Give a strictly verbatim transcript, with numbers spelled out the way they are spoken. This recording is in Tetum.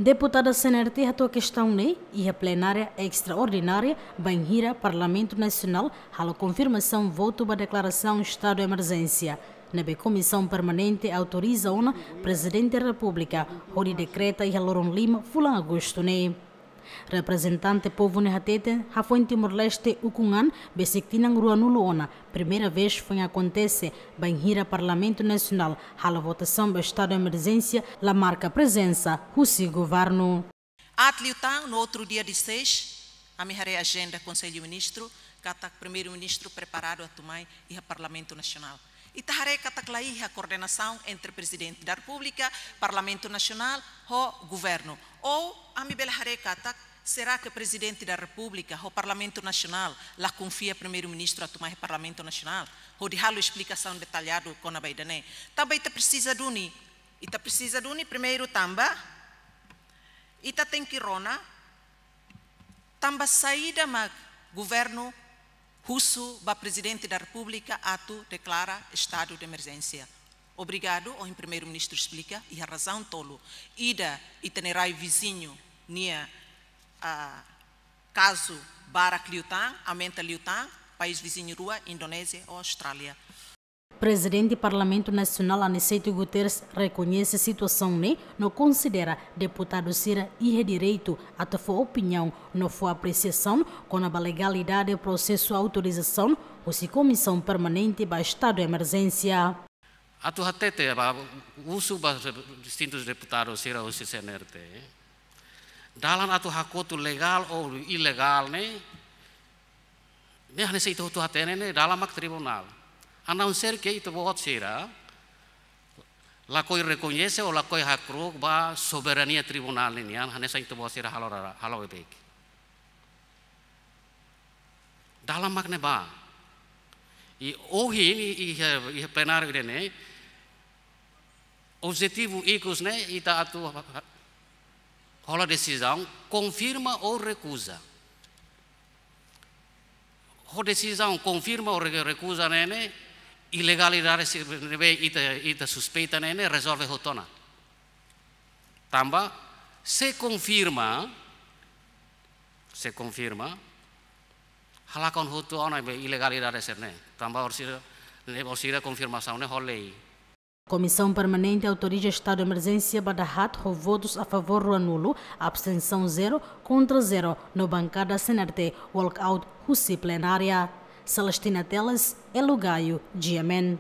Deputada C N R T hato'o kestaun ne'e iha plenária estraordinária bainhira Parlamentu Nasionál halo konfirmasaun votu ba deklarasaun estadu de emerjénsia. Ne'ebé Komisaun Permanente autoriza ona Prezidente Repúblika hodi dekreta iha loron lima fulan Agostu ne'e. Reprezentante povu ne'e hateten, hafoin Timor-Leste ukun an besik tinan ruanulu ona, primeira vez foin akontese bainhira Parlamentu Nasionál halo votasaun ba estadu de emerjénsia la marka prezensa husi governu. Aat liután, no outro dia dezasseis, ami haree ajenda Konsellu Ministru, katak Primeiru-Ministru preparadu atu mai iha Parlamentu Nasionál. Ita haree katak la iha koordenasaun entre Prezidente da Repúblika, Parlamentu Nasionál ho governu. Ou ami bele haree katak, será que Prezidente da Repúblika ho Parlamentu Nasionál la konfia Primeiru-Ministru atu mai Parlamentu Nasionál hodi halo esplikasaun detalladu kona-ba ida-ne'e? Tanba ita presiza duni, ita presiza duni primeiru tanba ita tenke rona tanba saida mak governu husu ba Prezidente da Repúblika atu deklara estadu de emerjénsia. Obrigadu, ohin Primeiru-Ministru esplika, iha razaun tolu. Ida, ita-nia rai viziñu nia, ah, kazu barak liután, aumenta liután, país viziñu rua, Indonézia ho Austrália. Prezidente Parlamentu Nasionál Aniceto Guterres rekoñese situasaun ne'e no konsidera deputadu sira iha direitu atu fó opiniaun no fó apresiasaun kona-ba legalidade prosesu autorizasaun husi Komisaun Permanente ba Estadu de Emerjénsia. Atu hatete ba husu ba distintus deputadu sira husi C N R T. Dalan atu hakotu legál ou ilegál ne'e, ne'e hanesan ita hotu hatene ne'e dalan mak tribunál. A não ser que ita-boot sira lakohi rekoñese ou lakohi hakru'uk ba soberania tribunál ne'e nian, hanesan ita-boot sira halo rara, halo beibeik. Dalan mak ne'ebá. I ohin, i, i, i plenáriu ida-ne'e, objetivu ikus ne'e ita atu hola desizaun, konfirma ou rekuza. Ho desizaun konfirma ou re-, rekuza ne'e ne'e, ilegalidade sira ne'ebé ita, ita suspeita ne'e ne'e rezolve hotu ona. Tanba, se konfirma, se konfirma, halakon hotu ona be ilegalidade sira-ne'e. Tanba orsida, ne'e orsida konfirmasaun ne'e ho lei. Komisaun Permanente autoriza estadu de emerjénsia ba dahaat ho votus a favór ruanulu, abstensaun zero, kontra zero, no bankada C N R T walkout husi plenária. Celestina Teles, Elo Gaio, G M N.